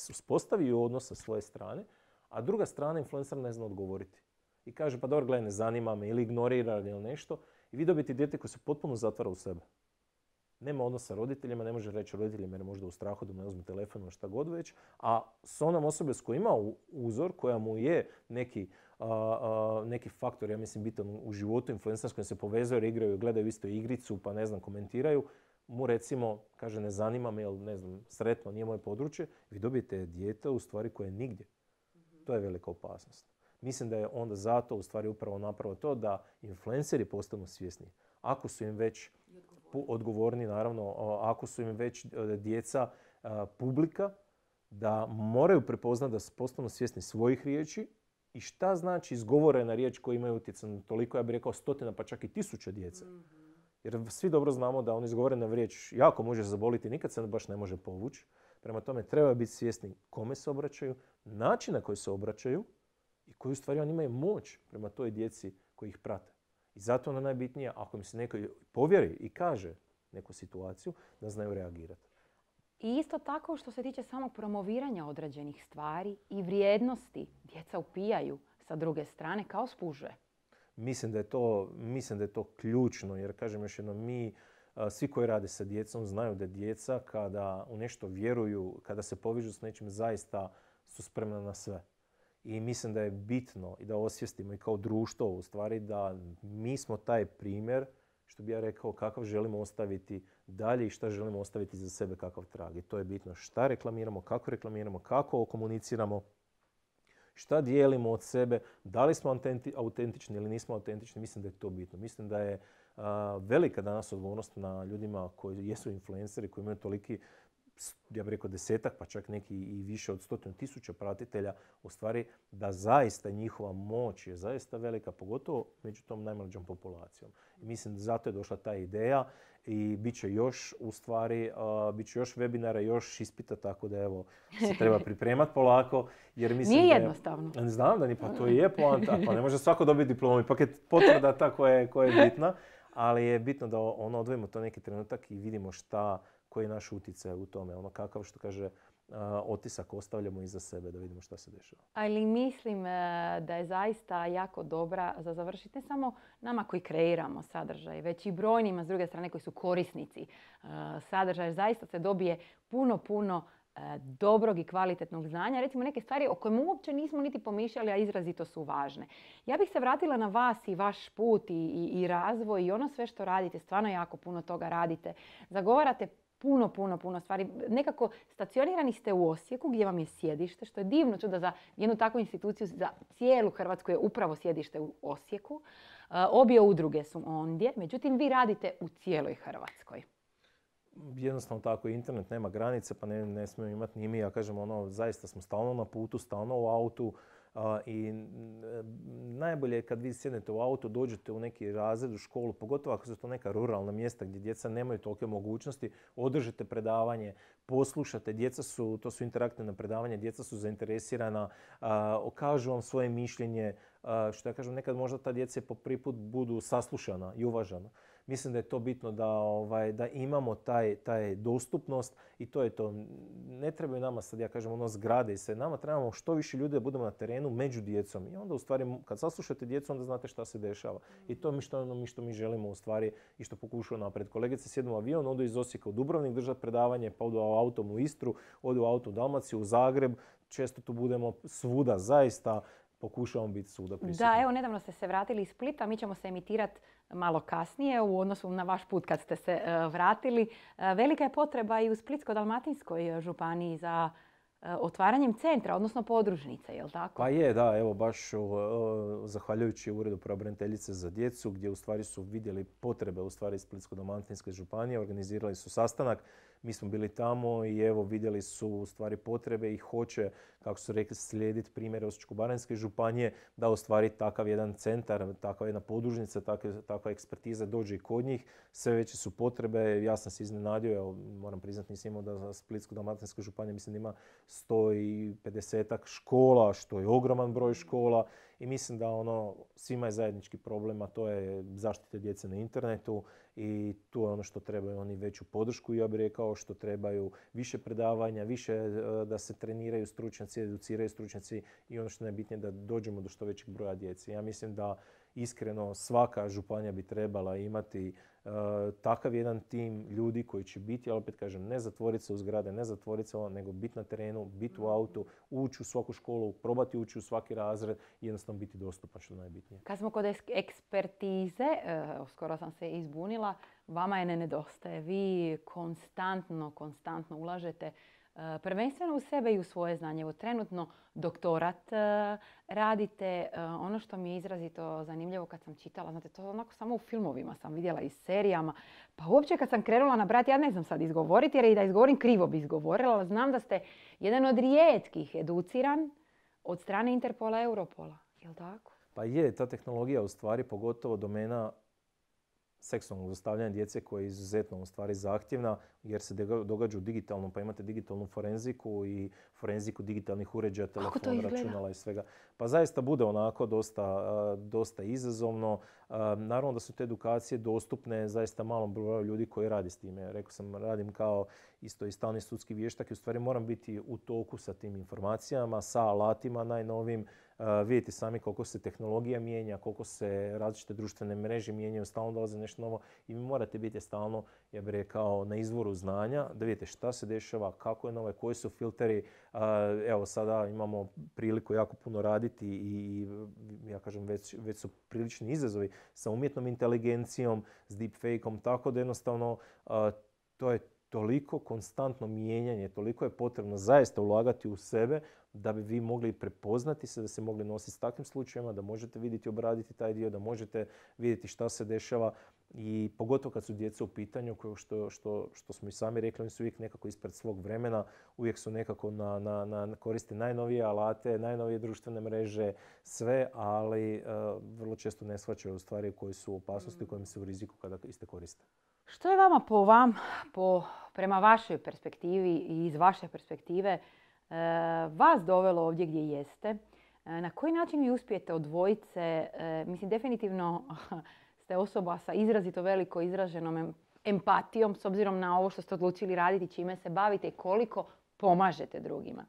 uspostavio odnos sa svoje strane, a druga strana influencer ne zna odgovoriti. I kaže, pa dobro, gledaj, ne zanima me, ili ignorira ili nešto. I vi dobijete dijete koje se potpuno zatvara u sebe. Nema odnosa sa roditeljima, ne može reći roditeljima jer je možda u strahu da mu ne uzme telefon ili šta god već. A s onom osobe s kojom ima uzor, koja mu je neki, a, a, neki faktor, ja mislim, bitan u životu, influencer s kojim se povezaju jer igraju, gledaju isto igricu, pa ne znam, komentiraju, mu recimo kaže ne zanima me, jer ne znam, sretno, nije moje područje, vi dobijete dijete u stvari koje je nigdje. Mm-hmm. To je velika opasnost. Mislim da je onda zato u stvari upravo napravo to da influenceri postanu svjesni. Ako su im već odgovorni, naravno, ako su im već djeca publika, da moraju prepoznati da postanu svjesni svojih riječi i šta znači izgovorena riječ koja imaju utjecaj na toliko, ja bih rekao, stotina pa čak i tisuća djece. Mm-hmm. Jer svi dobro znamo da on izgovorena riječ jako može zaboliti, nikad se baš ne može povući. Prema tome treba biti svjesni kome se obraćaju, način na koji se obraćaju i koji u stvari oni imaju moć prema toj djeci koji ih prate. I zato ono najbitnije, ako mi se neko povjeri i kaže neku situaciju, da znaju reagirati. I isto tako što se tiče samog promoviranja određenih stvari i vrijednosti, djeca upijaju sa druge strane kao spužve. Mislim da je to, mislim da je to ključno, jer kažem još jednom, mi svi koji rade sa djecom znaju da djeca kada u nešto vjeruju, kada se povežu s nečim, zaista su spremna na sve. I mislim da je bitno i da osvijestimo i kao društvo u stvari da mi smo taj primjer, što bi ja rekao, kakav želimo ostaviti dalje i šta želimo ostaviti za sebe, kakav trag. I to je bitno šta reklamiramo, kako reklamiramo, kako komuniciramo, šta dijelimo od sebe, da li smo autentični ili nismo autentični. Mislim da je to bitno. Mislim da je a, velika danas odgovornost na ljudima koji jesu influenceri, koji imaju toliki, ja bih rekao desetak, pa čak neki i više od stotinu tisuća pratitelja, u stvari da zaista njihova moć je zaista velika, pogotovo među tom najmlađom populacijom. I mislim da zato je došla ta ideja i bit će još u stvari, uh, bit će još webinara, još ispita, tako da evo se treba pripremati polako. Jer mislim Nije da je, jednostavno. Znam da ni, pa to je poanta, pa ne može svako dobiti diplomu, ipak je potvrda ta koja je, koja je bitna. Ali je bitno da ono odvojimo to neki trenutak i vidimo šta, koji je naš utjecaj u tome. Ono kakav, što kaže, uh, otisak ostavljamo iza sebe, da vidimo šta se dešava. Ali mislim uh, da je zaista jako dobra za završiti ne samo nama koji kreiramo sadržaj, već i brojnima s druge strane koji su korisnici uh, sadržaja. Zaista se dobije puno, puno dobrog i kvalitetnog znanja, recimo neke stvari o kojima uopće nismo niti pomišljali, a izrazito su važne. Ja bih se vratila na vas i vaš put i, i, i razvoj i ono sve što radite. Stvarno jako puno toga radite. Zagovarate puno, puno, puno stvari. Nekako stacionirani ste u Osijeku gdje vam je sjedište, što je divno čudo za jednu takvu instituciju, za cijelu Hrvatsku je upravo sjedište u Osijeku. Obje udruge su ondje, međutim vi radite u cijeloj Hrvatskoj. Jednostavno tako, internet nema granice, pa ne, ne smijemo imati ni mi. Ja kažem, ono, zaista smo stalno na putu, stalno u autu. A, I najbolje je kad vi sjednete u auto, dođete u neki razred, u školu, pogotovo ako su to neka ruralna mjesta gdje djeca nemaju tolike mogućnosti, održite predavanje, poslušate, djeca su, to su interaktivna predavanja, djeca su zainteresirana, a, kažu vam svoje mišljenje, a, što ja kažem, nekad možda ta djeca po prvi put budu saslušana i uvažana. Mislim da je to bitno da, ovaj, da imamo taj, taj dostupnost i to je to. Ne trebaju nama sad, ja kažem, ono zgrade i sve. Nama trebamo što više ljudi da budemo na terenu među djecom. I onda u stvari, kad saslušate djecu, onda znate šta se dešava. I to je što, ono, mi što mi želimo u stvari i što pokušamo napred. Kolegice sjednu u avion, odu iz Osijeka u Dubrovnik držati predavanje, pa odu autom u Istru, odu u auto u Dalmaciju, u Zagreb. Često tu budemo svuda, zaista. Pokušavamo biti svuda prisutni. Da, evo, nedavno ste se vratili iz Splita. Mi ćemo se emitirati malo kasnije u odnosu na vaš put kad ste se uh, vratili. Uh, velika je potreba i u Splitsko-dalmatinskoj županiji za uh, otvaranjem centra, odnosno podružnice, je li tako? Pa je, da. Evo, baš uh, zahvaljujući Uredu pravobraniteljice za djecu, gdje u stvari su vidjeli potrebe u stvari Splitsko-dalmatinske županije, organizirali su sastanak. Mi smo bili tamo i evo vidjeli su u stvari potrebe i hoće, kako su rekli, slijediti primjere Osječko-baranjske županije da u stvari takav jedan centar, takva jedna podružnica, takva, takva ekspertiza dođe i kod njih. Sve veće su potrebe. Ja sam se iznenadio, evo, moram priznati, nisam imao da za Splitsko-dalmatinska županija mislim da ima sto pedeset škola, što je ogroman broj škola. I mislim da ono, svima je zajednički problem, a to je zaštita djece na internetu i tu je ono što trebaju oni veću podršku, ja bih rekao, što trebaju više predavanja, više da se treniraju stručnjaci, educiraju stručnjaci i ono što je najbitnije da dođemo do što većeg broja djece. Ja mislim da iskreno svaka županija bi trebala imati uh, takav jedan tim ljudi koji će biti, ali opet kažem, ne zatvoriti se u zgrade, ne zatvoriti se, nego biti na terenu, biti u autu, ući u svaku školu, probati ući u svaki razred i jednostavno biti dostupan, što je najbitnije. Kad smo kod ekspertize, uh, skoro sam se izbunila, vama je ne nedostaje. Vi konstantno, konstantno ulažete prvenstveno u sebe i u svoje znanje. Evo, trenutno doktorat radite. Ono što mi je izrazito zanimljivo kad sam čitala, znate, to onako samo u filmovima sam vidjela i serijama. Pa uopće kad sam krenula nabrati, ja ne znam sad izgovoriti, jer i da izgovorim krivo bi izgovorila, ali znam da ste jedan od rijetkih educiran od strane Interpola i Europola. Je li tako? Pa je, ta tehnologija u stvari, pogotovo domena seksualnog zlostavljanja djece koja je izuzetno u stvari zahtjevna jer se događa u digitalnom, pa imate digitalnu forenziku i forenziku digitalnih uređaja, telefona, računala i svega. Pa zaista bude onako dosta, dosta izazovno. Naravno da su te edukacije dostupne zaista malom broju ljudi koji radi s time. Rekao sam, radim kao isto i stalni sudski vještak i u stvari moram biti u toku sa tim informacijama, sa alatima najnovim. Uh, vidite sami koliko se tehnologija mijenja, koliko se različite društvene mreže mijenjaju, stalno dolaze nešto novo i vi morate biti stalno, ja bih rekao, na izvoru znanja, da vidite šta se dešava, kako je nove, koji su filteri. Uh, evo sada imamo priliku jako puno raditi i, i ja kažem, već, već su prilični izazovi sa umjetnom inteligencijom, s deepfake-om, tako da jednostavno uh, to je toliko konstantno mijenjanje, toliko je potrebno zaista ulagati u sebe da bi vi mogli prepoznati se, da se mogli nositi s takvim slučajevima, da možete vidjeti, obraditi taj dio, da možete vidjeti šta se dešava i pogotovo kad su djeca u pitanju, što, što, što smo i sami rekli, oni su uvijek nekako ispred svog vremena, uvijek su nekako na, na, na koriste najnovije alate, najnovije društvene mreže, sve, ali uh, vrlo često ne shvaćaju stvari koje su u opasnosti, kojim se u riziku kada iste koriste. Što je vama po vam, po, prema vašoj perspektivi i iz vaše perspektive, e, vas dovelo ovdje gdje jeste? E, na koji način vi uspijete od dvojice? E, mislim, definitivno ste ste osoba sa izrazito veliko izraženom empatijom s obzirom na ovo što ste odlučili raditi, čime se bavite i koliko pomažete drugima.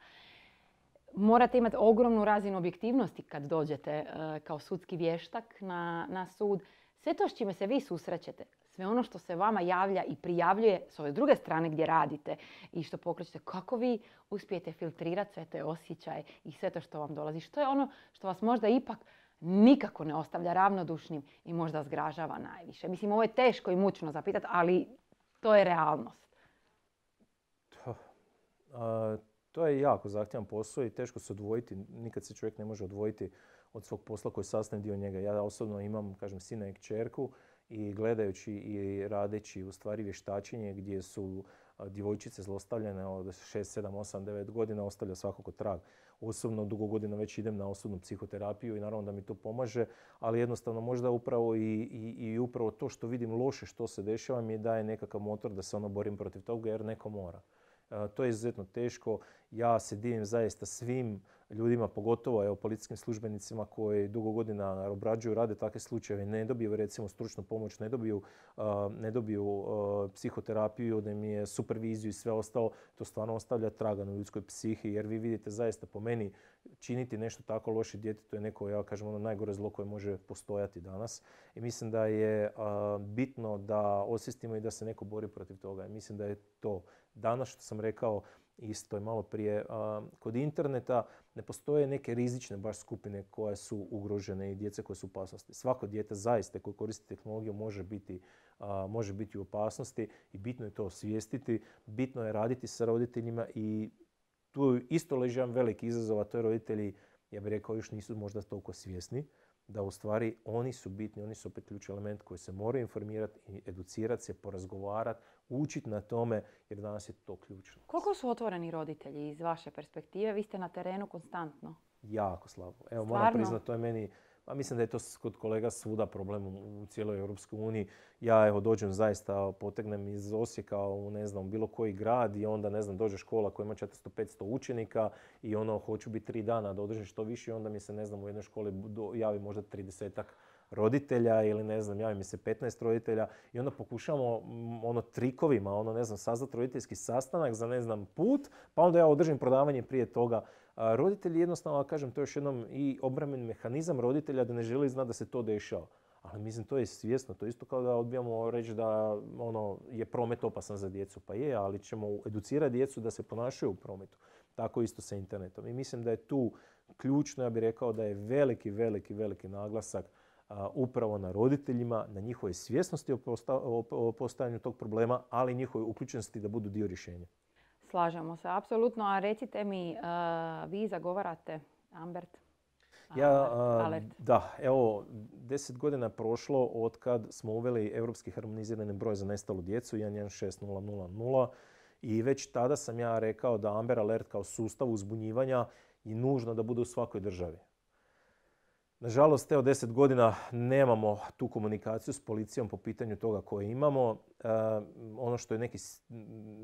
Morate imati ogromnu razinu objektivnosti kad dođete uh, kao sudski vještak na, na sud. Sve to s čime se vi susrećete, sve ono što se vama javlja i prijavljuje s ove druge strane gdje radite i što pokrećete, kako vi uspijete filtrirati sve te osjećaje i sve to što vam dolazi. Što je ono što vas možda ipak nikako ne ostavlja ravnodušnim i možda zgražava najviše. Mislim, ovo je teško i mučno zapitati, ali to je realnost. To, a, to je jako zahtjevan posao i teško se odvojiti. Nikad se čovjek ne može odvojiti od svog posla koji je sastavni dio njega. Ja osobno imam, kažem, sina i kćerku i gledajući i radeći u stvari vještačenje gdje su djevojčice zlostavljene od šest, sedam, osam, devet godina ostavlja svakako trag. Osobno dugo godina već idem na osobnu psihoterapiju i naravno da mi to pomaže, ali jednostavno možda upravo i, i, i upravo to što vidim loše što se dešava mi daje nekakav motor da se ono borim protiv toga jer neko mora. To je izuzetno teško. Ja se divim zaista svim ljudima, pogotovo evo, policijskim službenicima koji dugo godina obrađuju, rade takve slučajeve, ne dobiju recimo stručnu pomoć, ne dobiju, uh, ne dobiju uh, psihoterapiju, da im je superviziju i sve ostalo. To stvarno ostavlja traga na ljudskoj psihi jer vi vidite zaista po meni činiti nešto tako loše djetetu je neko, ja kažem, ono najgore zlo koje može postojati danas. I mislim da je uh, bitno da osvijestimo i da se neko bori protiv toga. I mislim da je to danas što sam rekao isto je malo prije. Kod interneta ne postoje neke rizične baš skupine koje su ugrožene i djece koje su u opasnosti. Svako dijete zaista koje koristi tehnologiju može biti, može biti u opasnosti i bitno je to osvijestiti. Bitno je raditi sa roditeljima i tu isto leži jedan veliki izazov, a to je roditelji, ja bih rekao, još nisu možda toliko svjesni da u stvari oni su bitni, oni su opet ključni element koji se moraju informirati i educirati se, porazgovarati, učiti na tome jer danas je to ključno. Koliko su otvoreni roditelji iz vaše perspektive? Vi ste na terenu konstantno. Jako slabo. Evo, Stvarno? moram priznati, to je meni, a mislim da je to kod kolega svuda problem u cijeloj Europskoj uniji. Ja evo dođem zaista, potegnem iz Osijeka u ne znam bilo koji grad i onda ne znam dođe škola koja ima četiristo petsto učenika i ono hoću biti tri dana da održim što više i onda mi se ne znam u jednoj školi javi možda tridesetak roditelja ili ne znam javi mi se petnaest roditelja i onda pokušamo ono trikovima ono ne znam saznati roditeljski sastanak za ne znam put pa onda ja održim predavanje prije toga. A roditelji jednostavno, kažem, to je još jednom i obrambeni mehanizam roditelja da ne želi znati da se to dešava. Ali mislim, to je svjesno. To je isto kao da odbijamo reći da ono, je promet opasan za djecu. Pa je, ali ćemo educirati djecu da se ponašaju u prometu. Tako isto sa internetom. I mislim da je tu ključno, ja bih rekao da je veliki, veliki, veliki naglasak a, upravo na roditeljima, na njihovoj svjesnosti o, posta, o, o postojanju tog problema, ali i njihovoj uključenosti da budu dio rješenja. Slažemo se, apsolutno. A recite mi, uh, vi zagovarate Ambert? Ja, uh, da, evo, deset godina je prošlo od kad smo uveli europski harmonizirani broj za nestalu djecu jedan jedan šest nula nula nula i već tada sam ja rekao da Amber Alert kao sustav uzbunjivanja je nužno da bude u svakoj državi. Nažalost, evo deset godina nemamo tu komunikaciju s policijom po pitanju toga koje imamo. E, ono što je neki,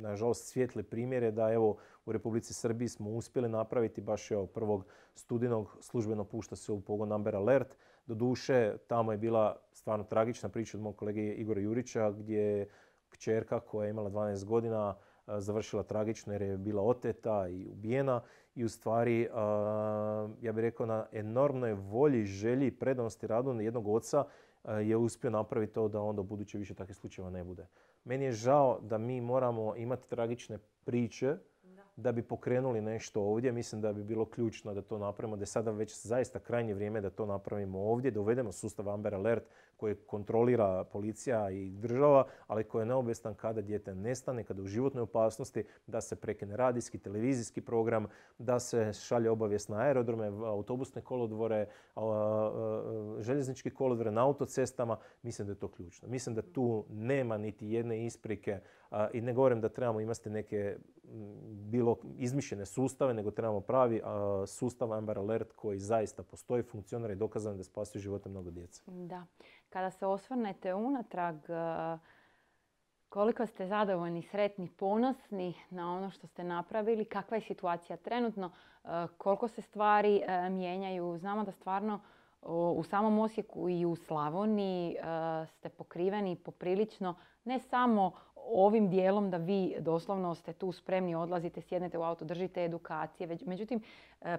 nažalost, svijetli primjer je da evo u Republici Srbiji smo uspjeli napraviti baš evo prvog studenog službeno pušta se u pogon Amber Alert. Doduše, tamo je bila stvarno tragična priča od mog kolege Igora Jurića gdje je kćerka koja je imala dvanaest godina završila tragično jer je bila oteta i ubijena i u stvari, ja bih rekao, na enormnoj volji, želji i predanosti radu jednog oca je uspio napraviti to da onda u buduće više takvih slučajeva ne bude. Meni je žao da mi moramo imati tragične priče da bi pokrenuli nešto ovdje. Mislim da bi bilo ključno da to napravimo, da je sada već zaista krajnje vrijeme da to napravimo ovdje, da uvedemo sustav Amber Alert koji kontrolira policija i država, ali koji je neobesan kada dijete nestane, kada je u životnoj opasnosti, da se prekine radijski, televizijski program, da se šalje obavijest na aerodrome, autobusne kolodvore, željeznički kolodvore, na autocestama. Mislim da je to ključno. Mislim da tu nema niti jedne isprike i ne govorim da trebamo imati neke bilo izmišljene sustave, nego trebamo pravi sustav Amber Alert koji zaista postoji, funkcionira i dokazano da spasuje živote mnogo djece. Da. Kada se osvrnete unatrag, koliko ste zadovoljni, sretni, ponosni na ono što ste napravili, kakva je situacija trenutno, koliko se stvari mijenjaju. Znamo da stvarno u samom Osijeku i u Slavoniji ste pokriveni poprilično ne samo ovim dijelom da vi doslovno ste tu spremni, odlazite, sjednete u auto, držite edukacije. Međutim,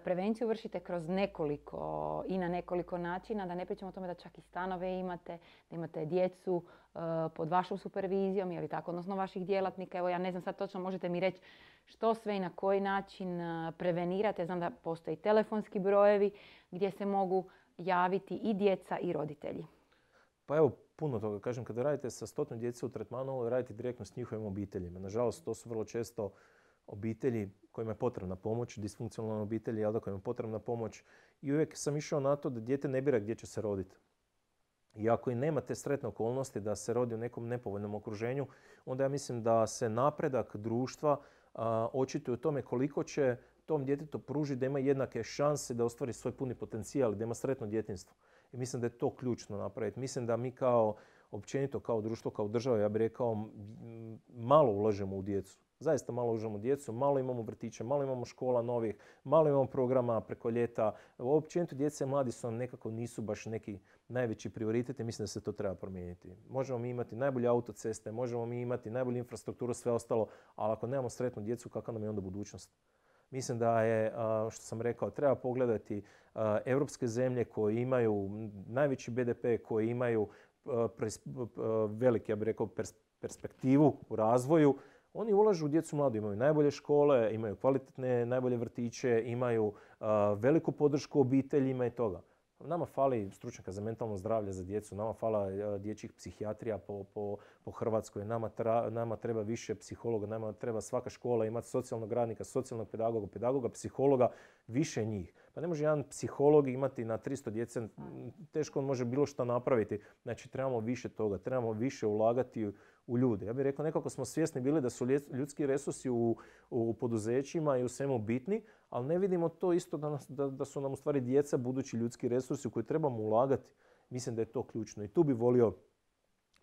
prevenciju vršite kroz nekoliko i na nekoliko načina, da ne pričamo o tome da čak i stanove imate, da imate djecu pod vašom supervizijom, je li tako, odnosno vaših djelatnika. Evo, ja ne znam sad točno, možete mi reći što sve i na koji način prevenirate. Znam da postoji telefonski brojevi gdje se mogu javiti i djeca i roditelji. Pa evo, puno toga. Kažem, kada radite sa stotinu djece u tretmanu, radite direktno s njihovim obiteljima. Nažalost, to su vrlo često obitelji kojima je potrebna pomoć, disfunkcionalne obitelji, jel da, kojima je potrebna pomoć. I uvijek sam išao na to da dijete ne bira gdje će se roditi. I ako i nema te sretne okolnosti da se rodi u nekom nepovoljnom okruženju, onda ja mislim da se napredak društva a, očituje u tome koliko će tom djetetu pružiti da ima jednake šanse da ostvari svoj puni potencijal, da ima sretno djetinjstvo. I mislim da je to ključno napraviti. Mislim da mi kao općenito, kao društvo, kao država, ja bih rekao, malo ulažemo u djecu. Zaista malo ulažemo u djecu, malo imamo vrtića, malo imamo škola novih, malo imamo programa preko ljeta. Općenito djeca i mladi su nam nekako nisu baš neki najveći prioritet i mislim da se to treba promijeniti. Možemo mi imati najbolje autoceste, možemo mi imati najbolju infrastrukturu, sve ostalo, ali ako nemamo sretnu djecu, kakva nam je onda budućnost? Mislim da je, što sam rekao, treba pogledati europske zemlje koje imaju najveći be de pe, koje imaju veliki, ja bih rekao, perspektivu u razvoju. Oni ulažu u djecu mladu, imaju najbolje škole, imaju kvalitetne, najbolje vrtiće, imaju veliku podršku obiteljima i toga. Nama fali stručnjaka za mentalno zdravlje za djecu, nama fala dječjih psihijatrija po, po, po Hrvatskoj, nama, tra, nama treba više psihologa, nama treba svaka škola imati socijalnog radnika, socijalnog pedagoga, pedagoga, psihologa, više njih. Pa ne može jedan psiholog imati na tristo djece, teško on može bilo što napraviti. Znači trebamo više toga, trebamo više ulagati u ljude. Ja bih rekao, nekako smo svjesni bili da su ljudski resursi u, u poduzećima i u svemu bitni, ali ne vidimo to isto da, nas, da, da su nam u stvari djeca budući ljudski resursi u koje trebamo ulagati. Mislim da je to ključno i tu bi volio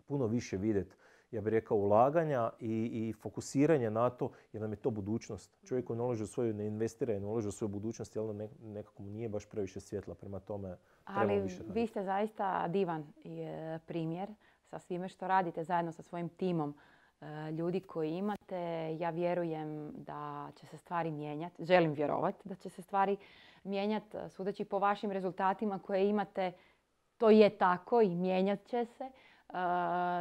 puno više vidjeti, ja bih rekao, ulaganja i, i fokusiranje na to, jer nam je to budućnost. Čovjek koji ne ulaže u svoju, ne investira i ne ulaže u svoju budućnost, jel ne, nekako mu nije baš previše svjetla, prema tome trebamo više raditi. Ali vi ste zaista divan primjer sa svime što radite zajedno sa svojim timom ljudi koji imate. Ja vjerujem da će se stvari mijenjati. Želim vjerovati da će se stvari mijenjati. Sudeći po vašim rezultatima koje imate, to je tako i mijenjat će se.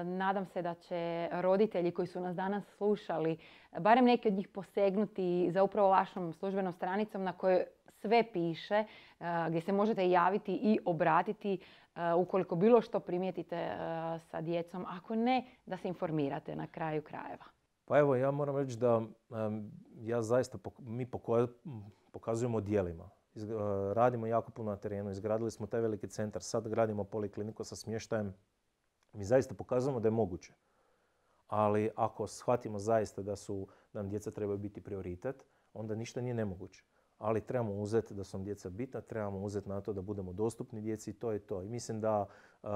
Nadam se da će roditelji koji su nas danas slušali, barem neki od njih posegnuti za upravo vašom službenom stranicom na kojoj sve piše, gdje se možete javiti i obratiti ukoliko bilo što primijetite sa djecom. Ako ne, da se informirate na kraju krajeva. Pa evo, ja moram reći da ja zaista, mi pokazujemo djelima. Radimo jako puno na terenu, izgradili smo taj veliki centar, sad gradimo polikliniku sa smještajem. Mi zaista pokazujemo da je moguće. Ali ako shvatimo zaista da su nam djeca trebaju biti prioritet, onda ništa nije nemoguće. Ali trebamo uzeti da su nam djeca bitna, trebamo uzeti na to da budemo dostupni djeci i to je to. I mislim da uh,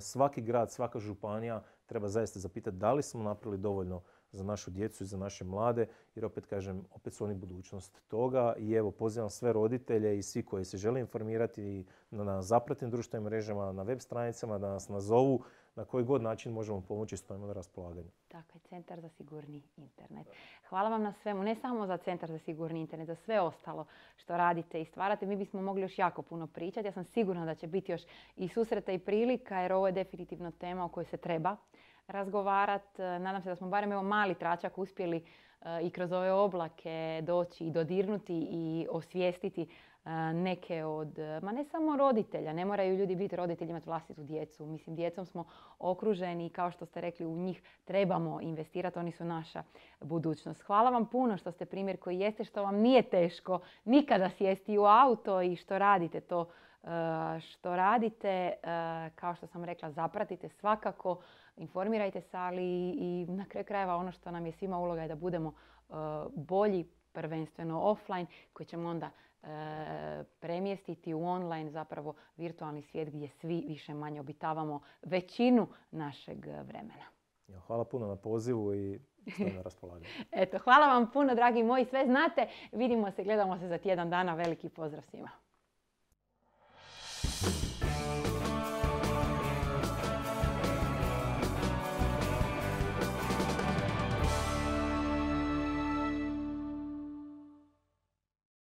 svaki grad, svaka županija treba zaista zapitati da li smo napravili dovoljno za našu djecu i za naše mlade, jer opet kažem, opet su oni budućnost toga. I evo, pozivam sve roditelje i svi koji se žele informirati na, na zapratnim društvenim mrežama, na web stranicama, da nas nazovu, na koji god način možemo pomoći, stojimo na raspolaganju. Tako je, Centar za sigurni internet. Hvala vam na svemu, ne samo za Centar za sigurni internet, za sve ostalo što radite i stvarate. Mi bismo mogli još jako puno pričati. Ja sam sigurna da će biti još i susreta i prilika, jer ovo je definitivno tema o kojoj se treba razgovarati. Nadam se da smo barem evo mali tračak uspjeli uh, i kroz ove oblake doći i dodirnuti i osvijestiti uh, neke od, ma ne samo roditelja, ne moraju ljudi biti roditelji, imati vlastitu djecu. Mislim, djecom smo okruženi i kao što ste rekli, u njih trebamo investirati, oni su naša budućnost. Hvala vam puno što ste primjer koji jeste, što vam nije teško nikada sjesti u auto i što radite to uh, što radite. Uh, kao što sam rekla, zapratite svakako, informirajte se, ali i na kraju krajeva ono što nam je svima uloga je da budemo uh, bolji, prvenstveno offline, koji ćemo onda uh, premjestiti u online, zapravo virtualni svijet gdje svi više manje obitavamo većinu našeg vremena. Hvala puno na pozivu i stojim na raspolaganju. Eto, hvala vam puno, dragi moji, sve znate. Vidimo se, gledamo se za tjedan dana. Veliki pozdrav svima.